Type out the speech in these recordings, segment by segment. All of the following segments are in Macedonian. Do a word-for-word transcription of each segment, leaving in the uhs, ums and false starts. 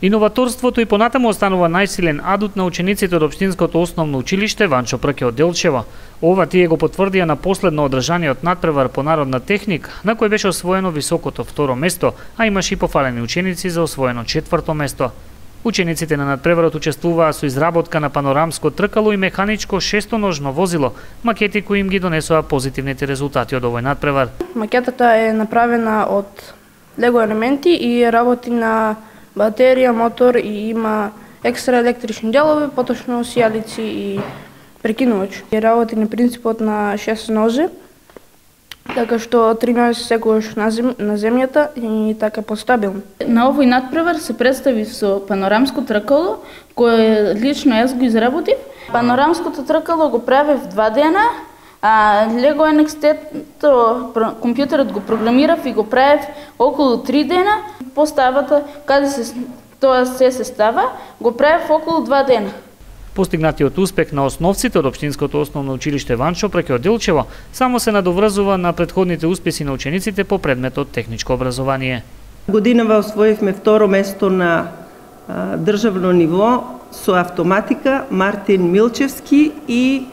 Иноваторството и понатаму останува најсилен адут на учениците од Општинското основно училиште Ванчо Прке од Делчево. Ова тие го потврдија на последно одржаниот надпревар по народна техника, на кој беше освоено високото второ место, а имаше и пофалени ученици за освоено четврто место. Учениците на надпреварот учествуваа со изработка на панорамско тркало и механичко шестоножно возило, макети кои им ги донесоа позитивните резултати од овој надпревар. Макетата е направена од лего елементи и работи на батерија, мотор и има екстра електрични делови, поточно сијалици и прекинувач. И работи на принципот на шест нозе, така што три нозе секогаш на, зем, на земјата и така постабилно. На овој надпревар се представи со панорамско тркало, кое лично јас го изработив. Панорамското тркало го правев два дена, а Lego ен екс ти-то компјутерот го програмирав и го правев околу три дена. Поставата, каде се тоа се се става, го правев околу два дена. Постигнатиот успех на основците од Општинското основно училиште Ванчо Прке од Делчево само се надоврзува на претходните успеси на учениците по предметот техничко образование. Годинава освоивме второ место на а, државно ниво со автоматика Мартин Милчевски и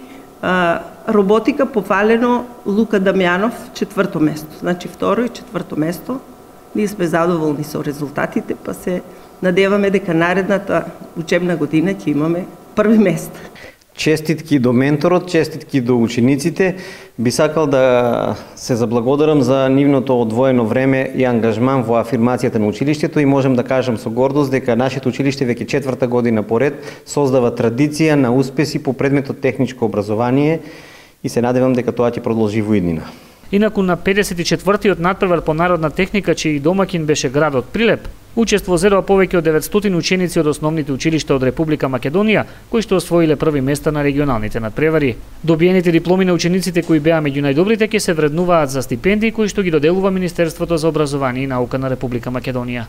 а, роботика пофалено Лука Дамјанов четврто место. Значи второ и четврто место. Ние сме задоволни со резултатите, па се надеваме дека наредната учебна година ќе имаме први место. Честитки до менторот, честитки до учениците. Би сакал да се заблагодарам за нивното одвоено време и ангажман во афирмацијата на училиштето и можем да кажам со гордост дека нашето училиште веќе четврта година поред создава традиција на успеси по предметот техничко образование и се надевам дека тоа ќе продолжи во иднина. Инаку на педесет и четвртиот надпревар по народна техника, чиј домакин беше градот Прилеп, учество зедоа повеќе од деветстотини ученици од основните училишта од Република Македонија, кои што освоиле први места на регионалните надпревари. Добиените дипломи на учениците кои беа меѓу најдобрите ќе се вреднуваат за стипендии кои што ги доделува Министерството за образование и наука на Република Македонија.